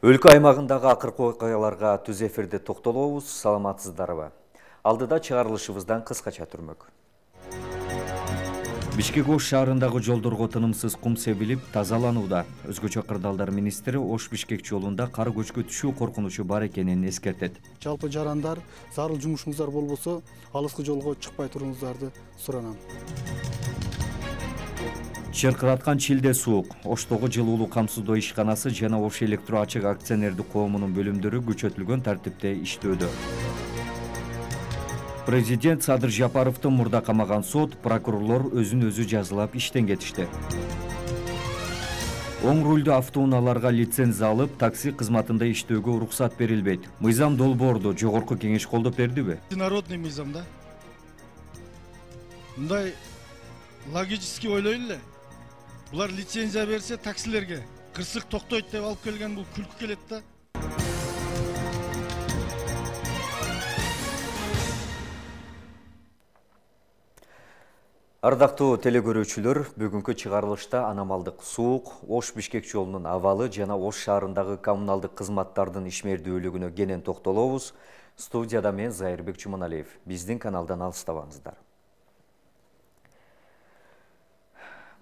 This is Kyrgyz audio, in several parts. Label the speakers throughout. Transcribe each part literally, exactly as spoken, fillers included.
Speaker 1: Өлкө аймагындагы акыркы окуяларга түз эфирде токтолобуз. Саламатсыздарбы? Алдыда чыгарылышыбыздан кыскача түрмөк. Бишкек Ош шаарындагы жолдорго тынымсыз кум себилип тазаланууда. Өзгөчө кырдаалдар министри Ош Бишкек жолунда кар көчкү түшүү коркунучу бар экенин эскертет.
Speaker 2: Жалпы жарандар, зарыл жумушуңуздар болбосо, алыскы жолго чыкпай туруңуздарды суранам.
Speaker 1: Чыркыраткан чилде суук. Оштогу жылуулук камсыздоо ишканасы жана Ош электро ачык акционердик коомунун бөлүмдөрү күчөтүлгөн тартипте иштөөдө. Президент Садыр Жапаровду мурда камаган сот, прокурорлор өзүн өзү жазалап иштен кетишти. Оң рулдуу автоунааларга лицензия алып, такси кызматында иштөөгө уруксат берилбейт. Мыйзам долбоорду жогорку кеңеш колдоп бердиби?
Speaker 2: Народный мыйзам да. Мындай логически ойлой эле. Булар лицензия берсе таксилерге кырсык токтойт деп алып келген, бул күлкү келет да.
Speaker 1: Ардактуу телекөрүүчүлөр, бүгүнкү чыгарылышта аномалдык суук, Ош Бишкек жолунун абалы жана Ош шаарындагы коммуналдык кызматтардын ишмердүүлүгүнө кенен токтолобуз. Студияда мен Зайырбек Чуманалиев. Биздин каналдан алыстабаңыздар.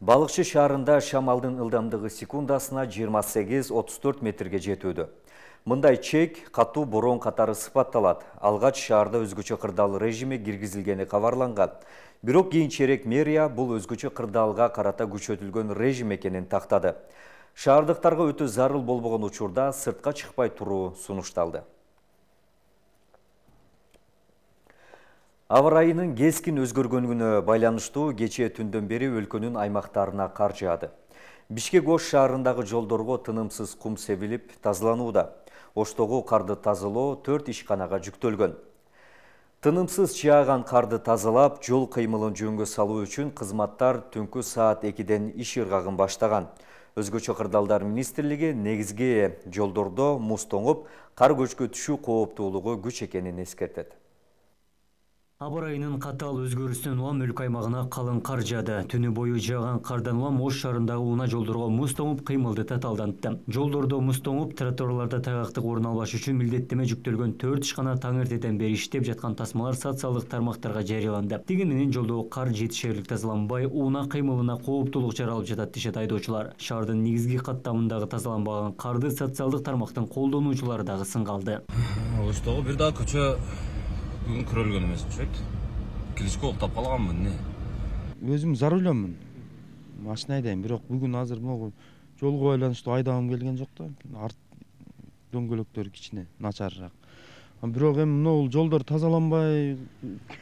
Speaker 1: Балыкчы шаарында шамалдын ылдамдыгы секундасына жыйырма сегиз отуз төрт метрге жетүүдө. Мындай чек катуу борон катары сыпатталат. Алгач шаарда өзгөчө кырдаал режими киргизилгени кабарланган. Бирок кийинчерээк мэрия бул өзгөчө кырдаалга карата күчөтүлгөн режим экенин тактады. Шаардыктарга өтө зарыл болбогон учурда сыртка чыкпай туруу сунушталды. Аба ырайынын кескин өзгөргөнүнө байланыштуу кечээ түндөн бери өлкөнүн аймактарына кар жаады. Бишкек Ош шаарындагы жолдорго тынымсыз кум себилип тазаланууда. Оштогу карды тазалоо төрт ишканага жүктөлгөн. Тынымсыз жааган карды тазалап, жол кыймылын жөнгө салуу үчүн кызматтар түнкү саат экиден иш ыргагын баштаган. Өзгөчө кырдаалдар министрлиги негизги жолдордо муз тоңуп, кар көчкү түшүү кооптуулугу күч экенин эскертет.
Speaker 3: Аба ырайынын катаал өзгөрүүсүнөн улам өлкө аймагына калың кар жаады. Түнү бою жааган кардан улам Ош шаарындагы унаа жолдорго муз тоңуп, кыймылды татаалдантты. Жолдордо муз тоңуп, тротуарларда тайгактык орун албаш үчүн милдеттеме жүктөлгөн төрт ишкана таң эртеден бери иштеп жаткан тасмалар социалдык тармактарга жарыяланды. Деген менен жолдогу кар жетишерлик тазаланбай, унаа кыймылына кооптуулук жаралып жатат дешет айдоочулар. Шаардын негизги каттамындагы тазаланбаган карды социалдык тармактын колдонуучулары дагы сынга алды.
Speaker 4: Оштогу бир дагы көчө бүгүн көрөлгөн эмес окшойт. Киришке уктап калганмын, эмне?
Speaker 5: Өзүм за рулёмун. Машина айдайм, бирок бүгүн азыр могу жолго байланыштуу айдагым келген жок да. Арт дөңгөлөктөр кичине начарыраак. Бирок эми могу жолдор тазаланбай,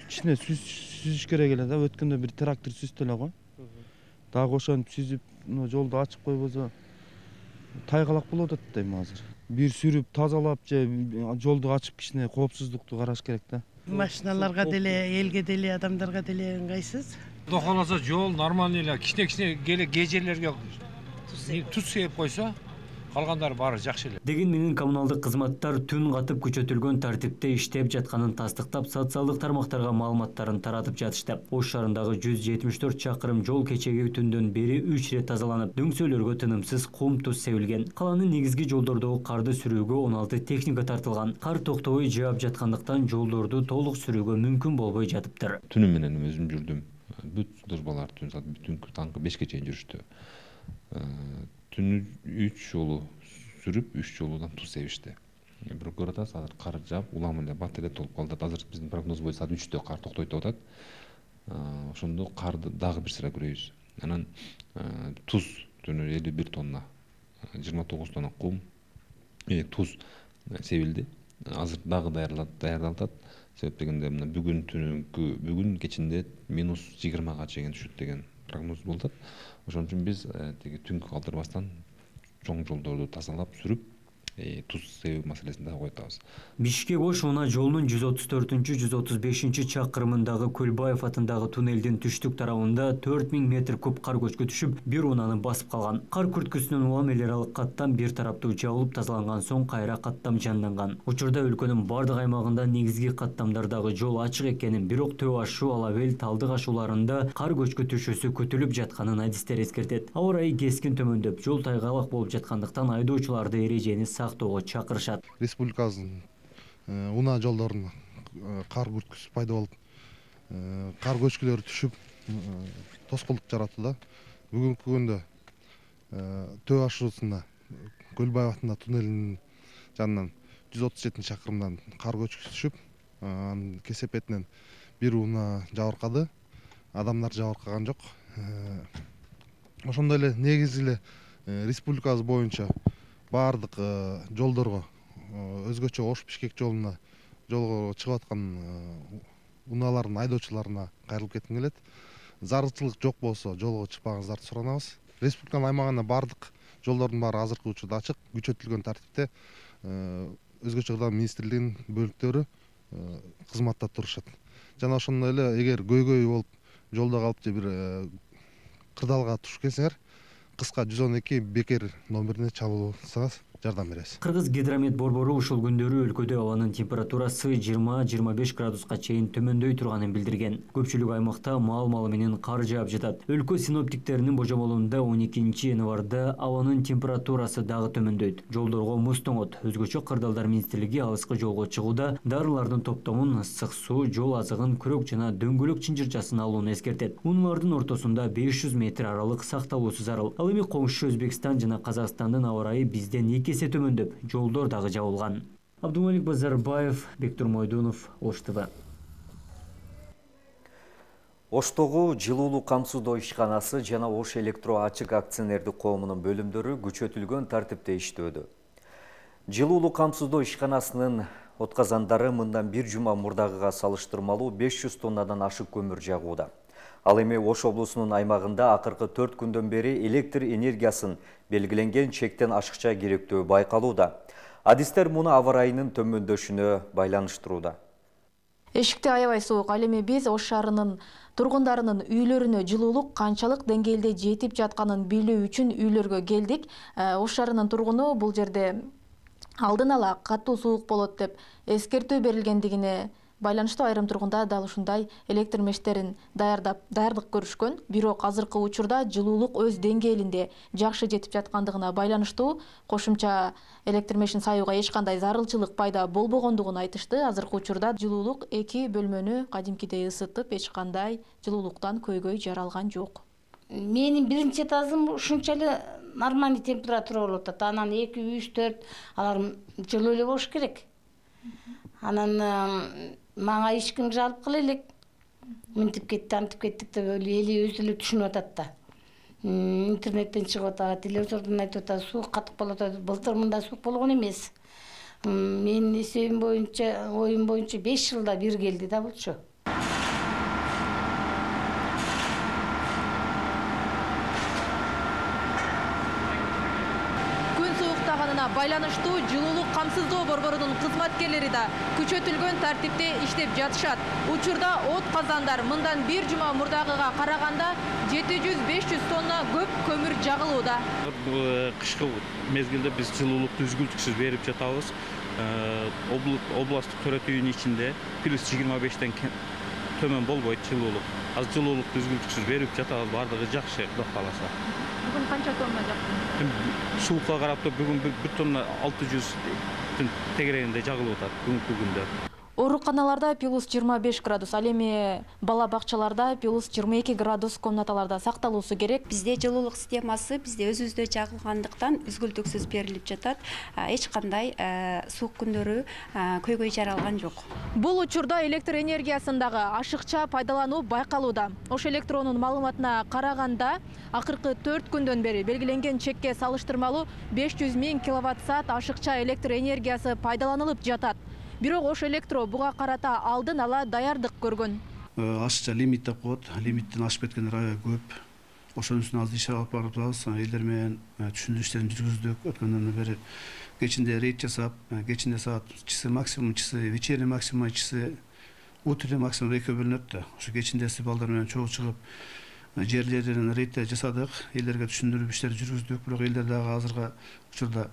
Speaker 5: кичине сүзүш керек эле да. Өткөндө бир трактор сүздү эле го. Дагы ошентип сүзүп, жолду ачып койбосо тайгалак болуп атат дейм азыр. Бир сүрүп тазалап же жолду ачып кичине коопсуздукту караш керек да.
Speaker 6: Машиналарга деле, элге деле, адамдарга деле ыңгайсыз.
Speaker 7: Кудо кааласа жол нормальный эле, кичине-кичине келе кээ жерлерге туз сээп койсо, калгандары баары жакшы эле.
Speaker 3: Деген менен коммуналдык кызматтар түн катып күчөтүлгөн тартипте иштеп жатканын тастыктап, социалдык тармактарга маалыматтарын таратып жатышты. Ош шаарындагы жүз жетимиш төрт чакырым жол кечеги түндөн бери үч ирет тазаланып, дөңсөлөргө тынымсыз кум туз себилген. Калаанын негизги жолдордогу карды сүрүүгө он алты техника тартылган. Кар токтобой жаап жаткандыктан жолдорду толук сүрүүгө мүмкүн болбой жатыптыр.
Speaker 8: Түнү менен өзүм жүрдүм. Бүт службалар түн саат бүтүнкү таңкы бешке чейин жүрүштү. Түнү үч жолу сүрүп, үч жолудан туз себишти. Прокуратура азыр кар жаап, улам эле бат эле толуп калды. Азыр биздин прогноз боюнча саат үчтө кар токтойт деп атат. Ошондо карды дагы бир сыра көрөбүз. Анан туз түнү элүү бир тонна, жыйырма тогуз тонна кум, туз себилди. Азыр дагы даярдалат. Себеп дегенде мына бүгүн түнүнкү, бүгүн кечинде минус жыйырмага чейин түшөт деген прогноз болуп атат. Ошон үчүн биз тиги түнкү калтырбастан чоң жолдорду тазалап сүрүп, туз себүү маселесин да койтабыз.
Speaker 3: Бишкек Ош унаа жолунун жүз отуз төртүнчү жүз отуз бешинчи чакырымындагы Көлбаев атындагы туннелдин түштүк тарабында төрт миң метр куб кар көчкү түшүп, бир унааны басып калган. Кар күрткүсүнөн улам эл аралык каттам бир тараптуу жабылып тазаланган соң кайра каттам жанданган. Учурда өлкөнүн бардык аймагында негизги каттамдардагы жол ачык экенин, бирок Төө ашуу, Ала бел, Талдык ашууларында кар көчкү түшүүсү күтүлүп жатканын адистер эскертет. Аба ырайы кескин төмөндөп, жол тайгалак болуп жаткандыктан айдоочуларды эрежени сактоого чакырышат.
Speaker 9: Республикабыздын унаа жолдорунда кар бүрткүсү пайда болуп, кар көчкүлөрү түшүп, тоскоолдук жаратууда. Бүгүнкү күндө Төө ашуусунда Көлбаев атында туннелинин жанынан жүз отуз жети чакырымдан кар көчкүсү түшүп, анын кесепетинен бир унаа жабыркады. Адамдар жабыркаган жок. Ошондой эле негизи эле республикабыз боюнча баардык жолдорго, өзгөчө Ош-Бишкек жолуна жолго чыгып аткан унаалардын айдоочуларына кайрылып кетким келет. Зарылчылык жок болсо жолго чыкпагыңыздарды суранабыз. Республиканын аймагында баардык жолдордун баары азыркы учурда ачык, күчөтүлгөн тартипте өзгөчө кырдаал министрлигинин бөлүктөрү кызматта турушат. Жана ошондой эле эгер көйгөй болуп жолдо калып же бир кырдаалга туш келсеңер, кыска жүз он эки бекер номерине чалуулсаңыз жардам беребиз.
Speaker 3: Кыргыз гидромет борбору ушул күндөрү өлкөдө абанын температурасы жыйырма жыйырма беш градуска чейин төмөндөй турганын билдирген. Көпчүлүк аймакта мал-малы менен кар жаап жатат. Өлкө синоптиктеринин божомолунда он экинчи январда абанын температурасы дагы төмөндөйт. Жолдорго муз тоңот. Өзгөчө Кырдаалдар министрлиги алыскы жолго чыгууда дарылардын топтомун, ысык суу, жол азыгын, күрөк жана дөңгөлөк чынжырчасын алууну эскертет. Унаалардын ортосунда беш жүз метр аралык сакталуусу зарыл. Ал эми коңшу Өзбекстан жана Казакстандын аба ырайы бизден эки эсе төмөндөп, жолдор дагы жабылган. Абдумалик Базарбаев, Бектур Мойдунов, Ош ТВ.
Speaker 1: Оштогу жылуулук камсыздоо ишканасы жана Ош электро ачык акционердик коомунун бөлүмдөрү күчөтүлгөн тартипте иштөөдө. Жылуулук камсыздоо ишканасынын отказандары мындан бир жума мурдагыга салыштырмалуу беш жүз тоннадан ашык көмүр жагууда. Ал эми Ош облусунун аймагында акыркы төрт күндөн бери электр энергиясын белгиленген чектен ашыкча керектөө байкалууда. Адистер муну аба ырайынын төмөндөшүнө байланыштырууда.
Speaker 10: Эшикте аябай суук. Ал эми биз Ош шаарынын тургундарынын үйлөрүнө жылуулук канчалык деңгээлде жетип жатканын билүү үчүн үйлөргө келдик. Ош шаарынын тургуну бул жерде алдын ала катуу суук болот деп эскертүү берилгендигине байланыштуу айрым тургундар дал ушундай электр мештерин даярдап даярдык көрүшкөн. Бирок азыркы учурда жылуулук өз деңгээлинде жакшы жетип жаткандыгына байланыштуу кошумча электр мешин саюуга эч кандай зарылчылык пайда болбогондугун айтышты. Азыркы учурда жылуулук эки бөлмөнү кадимкидей ысытып, эч кандай жылуулуктан көйгөй жаралган жок.
Speaker 11: Менин биринчи этажым ушунча эле нормальный температура болуп атат. Анан эки, үч, төрт алар жылуу эле болуш керек. Анан мага эч ким жалп кыла элек. Мынтип кетти, антип кеттик деп эли өзү эле түшүнүп атат да. Интернеттен чыгып атат, телевизордон айтып атат, суук катык болуп атат. Былтыр мындай суук болгон эмес. Менин эсебим боюнча, оюм боюнча беш жылда бир келди да булчу.
Speaker 10: Байланыштуу жылуулук камсыздоо борборунун кызматкерлери да күчөтүлгөн тартипте иштеп жатышат. Учурда от казандар мындан бир жума мурдагыга караганда жети жүз беш жүз тонна көп көмүр жагылууда.
Speaker 12: Кышкы мезгилде биз жылуулукту үзгүлтүксүз берип жатабыз. Областтык төрөтүүнүн ичинде плюс жыйырма бештен төмөн болбойт жылуулук. Азыр жылуулукту үзгүлтүксүз берип жатабыз, бардыгы жакшы, Кудай кааласа.
Speaker 10: Бүгүн канча тонна жактыңыз?
Speaker 12: Суукка карап бүгүн бир тонна алты жүздүн тегерегинде жагылып атат бүгүнкү күндө.
Speaker 10: Ооруканаларда плюс жыйырма беш градус, ал эми бала бакчаларда плюс жыйырма эки градус комнаталарда сакталуусу керек.
Speaker 13: Бизде жылуулук системасы бизде өзүбүздө жагылгандыктан үзгүлтүксүз берилип жатат. Эч кандай суук күндөрү көйгөй жаралган жок.
Speaker 10: Бул учурда электр энергиясындагы ашыкча пайдалануу байкалууда. Ош электронун маалыматына караганда, акыркы төрт күндөн бери белгиленген чекке салыштырмалуу беш жүз миң киловатт саат ашыкча электр энергиясы пайдаланылып жатат. Бирок Ош электро буга карата алдын ала даярдык көргөн.
Speaker 14: Ашыкча лимит деп коет, лимиттен ашып кеткендер аябай көп. Ошонун үстүнө азыр иш алып барып атабыз. Элдер менен түшүндүрүү иштерин жүргүздүк. Өткөндөн бери кечинде рейд жасап, кечинде саат часы максимум, часы вечерний максимум, часы утренний максимум экөө бөлүнөт да. Ошо кечинде балдар менен чогуу чыгып жерлерден рейдтер жасадык. Элдерге түшүндүрүү иштерин жүргүздүк. Бирок элдер дагы азыркы учурда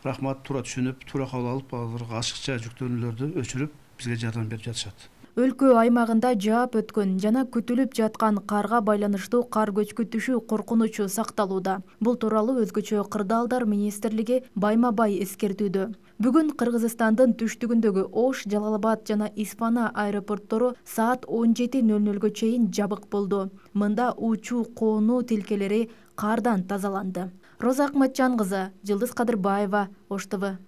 Speaker 14: рахмат, туура түшүнүп, туура кабыл алып, азыркы ашыкча жүктөөнүүлөрдү өчүрүп, бизге жардам берип жатышат.
Speaker 10: Өлкө аймагында жаап өткөн жана күтүлүп жаткан карга байланыштуу кар көчкү коркунучу сакталууда. Бул тууралуу Өзгөчө кырдаалдар министрлиги байма-бай эскертүүдө. Бүгүн Кыргызстандын түштүгүндөгү Ош, Жалал-Абад жана Испана аэропорттору саат он жети нөл нөлгө чейин жабык болду. Мында учуу коону тилкелери кардан тазаланды. Роза Акматжан кызы, Жылдыз Кадырбаева, Ош Т В.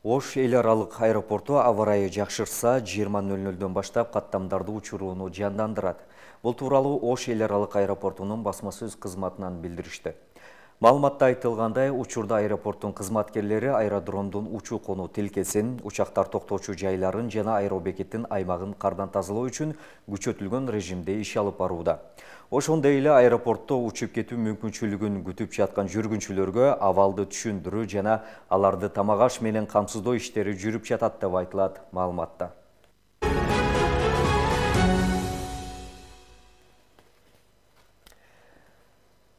Speaker 1: Ош эл аралык аэропорту аба ырайы жакшырса, жыйырма нөл нөлдөн баштап каттамдарды учурууну жандандырат. Бул тууралуу Ош эл аралык аэропортунун басма сөз кызматынан билдиришти. Маалыматта айтылгандай, учурда аэропорттун кызматкерлери аэродромдун учуу конуу тилкесин, учактар токтоочу жайларын жана аэробекеттин аймагын кардан тазалоо үчүн күчөтүлгөн режимде иш алып барууда. Ошондой эле аэропортто учуп кетүү мүмкүнчүлүгүн күтүп жаткан жүргүнчүлөргө абалды түшүндүрүү жана аларды тамак аш менен камсыздоо иштери жүрүп жатат деп айтылат маалыматта.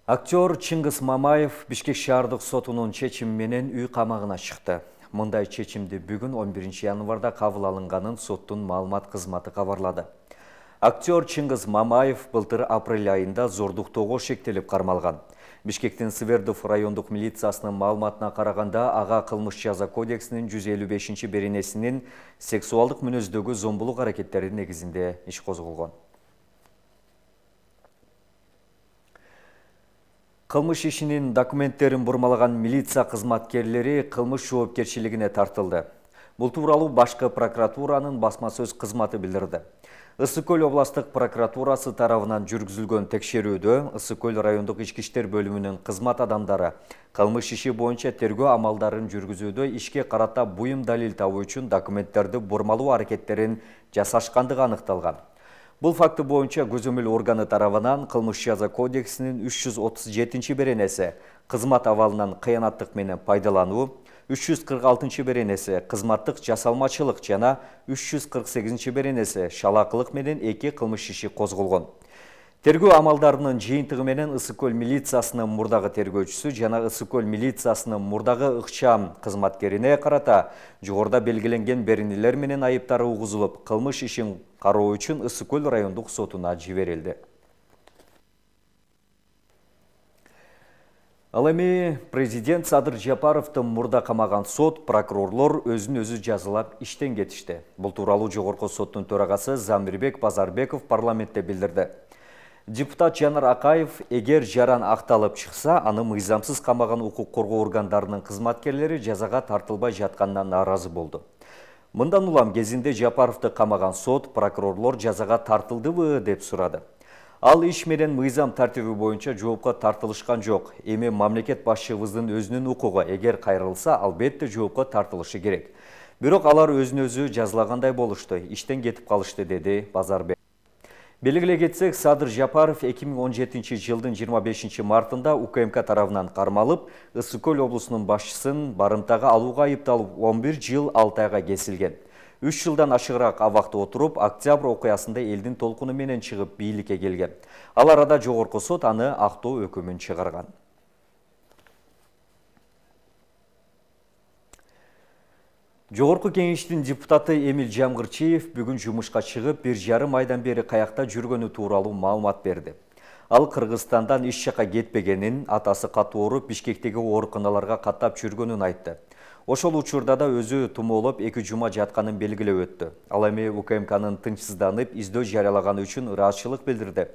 Speaker 1: Актер Чыңгыз Мамаев Бишкек шаардык сотунун чечими менен үй камагына чыкты. Мындай чечимди бүгүн он биринчи январда кабыл алынганын соттун маалымат кызматы кабарлады. Актер Чыңгыз Мамаев былтыр апрель айында зордуктоого шектелип кармалган. Бишкектин Свердов райондук милициясынын маалыматына караганда, ага кылмыш жаза кодексинин жүз элүү бешинчи беренесинин сексуалдык мүнөздөгү зомбулук аракеттери негизинде иш козголгон. Кылмыш ишинин документтерин бурмалаган милиция кызматкерлери кылмыш жоопкерчилигине тартылды. Бул тууралуу башкы прокуратуранын басма сөз кызматы билдирди. Ысык Көл областык прокуратурасы тарабынан жүргүзүлгөн текшерүүдө Ысык Көл райондук ички иштер бөлүмүнүн кызмат адамдары кылмыш иши боюнча тергөө амалдарын жүргүзүүдө ишке карата буюм далил табуу үчүн документтерди бурмалоо аракеттерин жасашкандыгы аныкталган. Бул факты боюнча көзөмөл органы тарабынан кылмыш жаза кодексинин үч жүз отуз жетинчи беренеси кызмат абалынан кыянаттык менен пайдалануу, үч жүз кырк алтынчы беренеси кызматтык жасалмачылык жана үч жүз кырк сегизинчи беренеси шалакылык менен эки кылмыш иши козголгон. Тергөө амалдарынын жыйынтыгы менен Ысык Көл милициясынын мурдагы тергөөчүсү жана Ысык Көл милициясынын мурдагы ыкчам кызматкерине карата жогоруда белгиленген беренелер менен айыптары угузулуп, кылмыш ишин кароо үчүн Ысык Көл райондук сотуна жиберилди. Ал эми президент Садыр Жапаровду мурда камаган сот, прокурорлор өзүн өзү жазалап иштен кетишти. Бул тууралуу жогорку соттун төрагасы Замирбек Базарбеков парламентте билдирди. Депутат Жанар Акаев эгер жаран акталып чыкса, аны мыйзамсыз камаган укук коргоо органдарынын кызматкерлери жазага тартылбай жатканына нааразы болду. Мындан улам кезинде Жапаровду камаган сот, прокурорлор жазага тартылдыбы деп сурады. Ал иш менен мыйзам тартиби боюнча жоопко тартылышкан жок. Эми мамлекет башчыбыздын өзүнүн укугу, эгер кайрылса, албетте жоопко тартылышы керек. Бирок алар өзүн өзү жазалагандай болушту, иштен кетип калышты, деди Базарбек. Белгилей кетсек, Садыр Жапаров эки миң он жетинчи жылдын жыйырма бешинчи мартында У К М К тарабынан кармалып, Ысык Көл облусунун башчысын барымтага алууга айыпталып он бир жыл алты айга кесилген. үч жылдан ашыгыраак абакта отуруп, октябрь окуясында элдин толкуну менен чыгып бийликке келген. Ал арада жогорку сот аны актоо өкүмүн чыгарган. Жогорку кеңештин депутаты Эмил Жамгырчиев бүгүн жумушка чыгып, бир жарым айдан бери каякта жүргөнү тууралуу маалымат берди. Ал Кыргызстандан иш жакка кетпегенин, атасы катуу ооруп, Бишкектеги ооруканаларга каттап жүргөнүн айтты. Ошол учурда да өзү тумоолоп эки жума жатканын белгилеп өттү. Ал эми У К М Кнын тынчсызданып, издөө жарыялаганы үчүн ыраазычылык билдирди.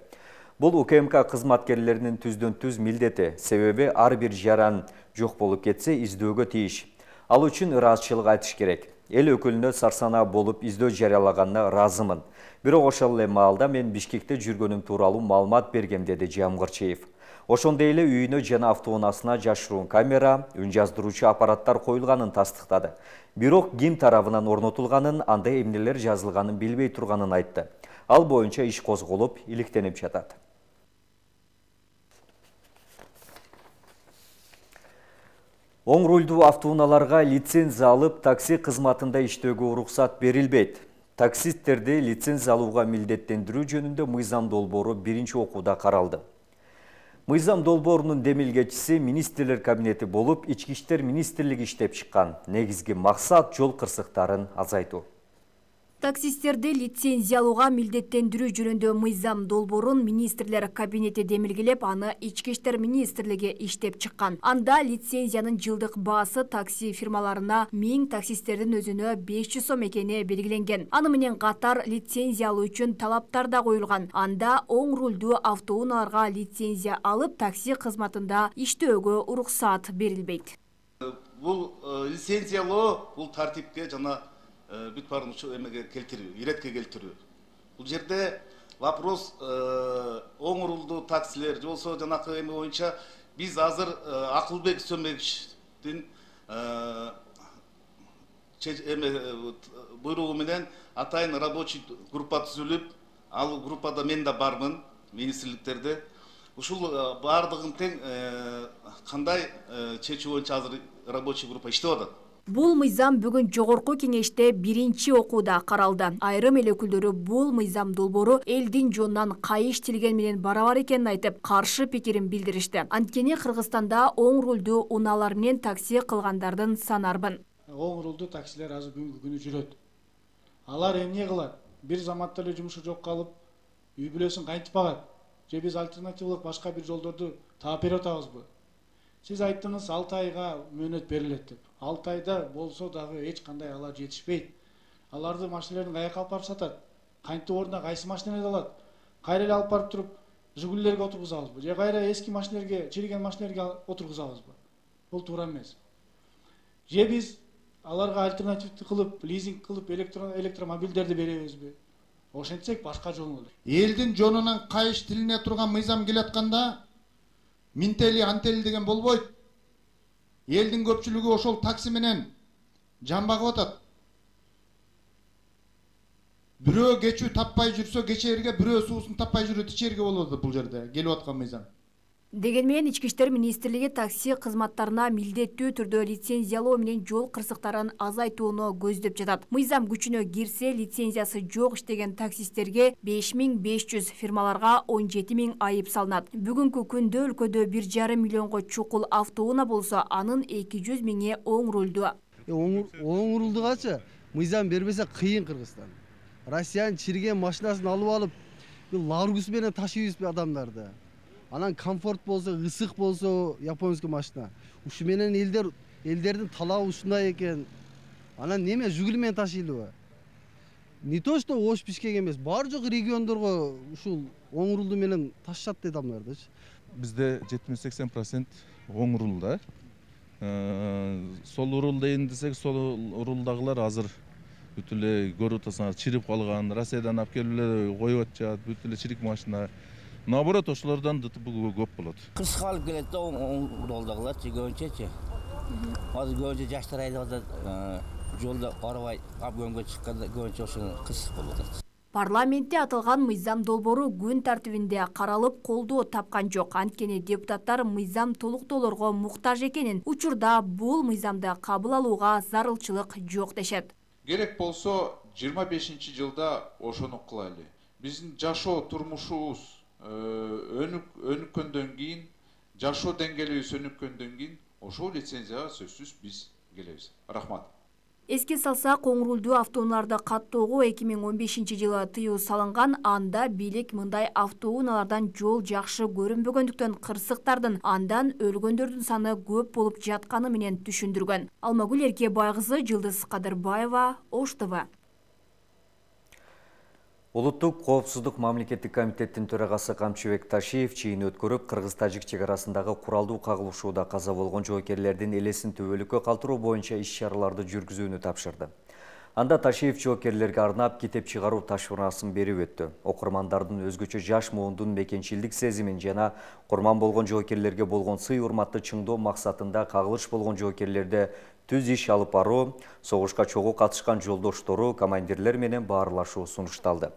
Speaker 1: Бул У К М К кызматкерлеринин түздөн түз милдети, себеби ар бир жаран жок болуп кетсе издөөгө тийиш. Ал үчүн ыраазычылык айтыш керек. Эл өкүлүнө сарсанаа болуп издөө жарыялаганына ыраазымын. Бирок ошол эле маалда мен Бишкекте жүргөнүм тууралуу маалымат бергем, деди Жамгырчиев. Ошондой эле үйүнө жана автоунаасына жашыруун камера, үн жаздыруучу аппараттар коюлганын тастыктады. Бирок ким тарабынан орнотулганын, андай эмнелер жазылганын билбей турганын айтты. Ал боюнча иш козголуп, иликтенип жатат. Оң рулдуу автоунааларга лицензия алып, такси кызматында иштөөгө уруксат берилбейт. Таксисттерди лицензия алууга милдеттендирүү жөнүндө мыйзам долбоору биринчи окууда каралды. Мыйзам долбоорунун демилгечиси министрлер кабинети болуп, Ички иштер министрлиги иштеп чыккан. Негизги максат жол кырсыктарын азайтуу.
Speaker 15: Таксисттерди лицензиялууга милдеттендирүү жөнүндө мыйзам долбоорун министрлер кабинети демилгелеп, аны Ички иштер министрлиги иштеп чыккан. Анда лицензиянын жылдык баасы такси фирмаларына миң, таксисттердин өзүнө беш жүз сом экени белгиленген. Аны менен катар лицензия алуу үчүн талаптар да коюлган. Анда оң рулдуу автоунааларга лицензия алып, такси кызматында иштөөгө уруксаат берилбейт.
Speaker 16: Бул лицензиялоо бул тартипке жана бүт баарын эмеге келтирүү, иретке келтирүү. Бул жерде вопрос оң рулдуу таксилер же болсо жанакы эме боюнча биз азыр Акылбек Сөмбековичтин эме буйругу менен атайын рабочий группа түзүлүп, ал группада мен да бармын, министрликтерде. Ушул баардыгын тең кандай чечүү боюнча азыр рабочий группа иштеп атат.
Speaker 15: Бул мыйзам бүгүн жогорку кеңеште биринчи окууда каралды. Айрым эл өкүлдөрү бул мыйзам долбоору элдин жонунан кайыш тилген менен барабар экенин айтып, каршы пикирин билдиришти. Анткени Кыргызстанда оң рулдуу унаалар менен такси кылгандардын саны арбын.
Speaker 17: Оң рулдуу таксилер азыр бүгүнкү күнү жүрөт. Алар эмне кылат? Бир заматта эле жумушу жок калып, үй бүлөсүн кантип багат? Же биз альтернативалык башка бир жолдорду таап берип атабызбы? Сиз айттыңыз алты айга мөөнөт берилет деп. алты айда болсо дагы эч кандай алар жетишпейт. Аларды машиналерин каяка алып барып сатат? Кантип ордуна кайсы машиналарды алат? Кайра эле алып барып туруп Жигулилерге отургузабызбы? Же кайра эски машиналерге, чириген машиналерге отургузабызбы? Бул туура эмес. Же биз аларга альтернативди кылып, лизинг кылып электромобилдерди беребизби? Ошентсек башка жол болот.
Speaker 18: Элдин жонунан кайыш тилине турган мыйзам келатканда минтели антели деген болбойт. Элдин көпчүлүгү ошол такси менен жан багып атат. Бирөө кечүү таппай жүрсө кечээрге, бирөө суусун таппай жүрөт ичерге болот бул жерде келип аткан мыйзам.
Speaker 15: Деген менен Ички иштер министрлиги такси кызматтарына милдеттүү түрдө лицензиялоо менен жол кырсыктарын азайтууну көздөп жатат. Мыйзам күчүнө кирсе, лицензиясы жок иштеген таксисттерге беш миң беш жүз, фирмаларга он жети миң айып салынат. Бүгүнкү күндө өлкөдө бир жарым миллионго чукул автоунаа болсо, анын эки жүз миңи оң рулдуу.
Speaker 19: Оң рулдугачы мыйзам бербесе кыйын Кыргызстан. Россиянын чирген машинасын алып алып, Ларгус менен ташыйбызбы адамдарды? Анан комфорт болсо, ысык болсо, японский машина. Ушу менен элдер элдердин талабы ушундай экен. Анан неме Жигули менен ташыйлыбы? Не то что Ош Бишкек эмес, бар жок региондорго ушул оң рулду менен ташышат дейт адамдардычы.
Speaker 20: Бизде жетимиш сексен процент оң рулда. Сол рул дейин десек, сол рулдагылар азыр бүт эле көрүп атасыңар чирип калган, Россиядан алып келип эле коюп атышат, бүт эле чирик машина. Наоборот, ошолордон көп болот.
Speaker 21: Кырсыкка алып келет да оң рулдагыларчы көбүнчөчү. Азыр көбүнчө жаштар айдап атат, жолдо карабай обгонго чыкканда көбүнчө ошол кырсык болуп атат.
Speaker 15: Парламентте атылган мыйзам долбоору күн тартибинде каралып колдоо тапкан жок. Анткени депутаттар мыйзам толуктоолорго муктаж экенин, учурда бул мыйзамды кабыл алууга зарылчылык жок дешет.
Speaker 22: Керек болсо жыйырма бешинчи жылда ошону кылайлы. Биздин жашоо турмушубуз өнүккөндөн кийин, жашоо деңгээлибиз өнүккөндөн кийин ошол лицензияга сөзсүз биз келебиз. Рахмат.
Speaker 15: Эске салсак, оң рулдуу автоунааларды каттоого эки миң он бешинчи жылы тыюу салынган. Анда бийлик мындай автоунаалардан жол жакшы көрүнбөгөндүктөн кырсыктардын андан өлгөндөрдүн саны көп болуп жатканы менен түшүндүргөн. Алмагүл Эркебай кызы, Жылдыз Кадырбаева, Ош Т В.
Speaker 1: Улуттук коопсуздук мамлекеттик комитеттин төрагасы Камчыбек Ташиев чыйын өткөрүп, Кыргыз-Тажик чек арасындагы куралдуу кагылышууда каза болгон жоокерлердин элесин төбөлүккө калтыруу боюнча иш-чараларды жүргүзүүнү тапшырды. Анда Ташиев жоокерлерге арнап китеп чыгаруу ташкырасын берип өттү. Окурмандардын өзгөчө жаш муундун мекенчилдик сезимин жана курман болгон жоокерлерге болгон сый-урматты чыңдоо максатында кагылыш болгон жоокерлерди түз иш алып баруу, согушка чогуу катышкан жолдоштору, командирлер менен баарлашуу сунушталды.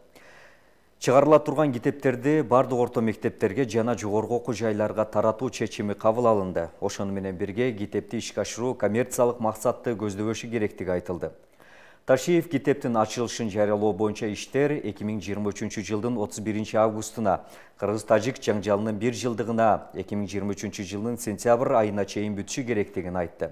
Speaker 1: Чыгарыла турган китептерди бардык орто мектептерге жана жогорку окуу жайларга таратуу чечими кабыл алынды. Ошону менен бирге китепти ишке ашыруу коммерциялык максатты көздөбөшү керектиги айтылды. Ташиев китептин ачылышын жарыялоо боюнча иштер эки миң жыйырма үчүнчү жылдын отуз биринчи августуна, кыргыз-тажик жаңжалынын бир жылдыгына эки миң жыйырма үчүнчү жылдын сентябрь айына чейин бүтүшү керектигин айтты.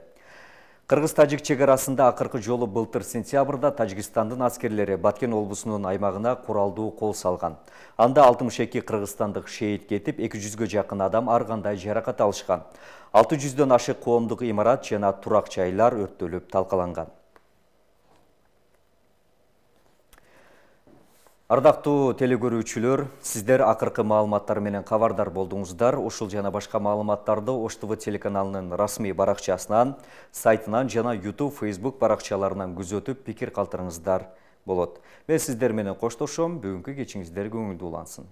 Speaker 1: Кыргыз-тажик чек арасында акыркы жолу былтыр сентябрда Тажикстандын аскерлери Баткен облусунун аймагына куралдуу кол салган. Анда алтымыш эки кыргызстандык шейит кетип, эки жүзгө жакын адам ар кандай жаракат алышкан. алты жүздөн ашык коомдук имарат жана турак жайлар өрттөлүп талкаланган. Ардактуу телекөрүүчүлөр, сиздер акыркы маалыматтар менен кабардар болдуңуздар. Ушул жана башка маалыматтарды Ош ТВ телеканалынын расмий баракчасынан, сайтынан жана YouTube, Facebook баракчаларынан күзөтүп, пикир калтырыңыздар болот. Мен сиздер менен коштошом. Бүгүнкү кечиңиздер көңүлдүү улансын.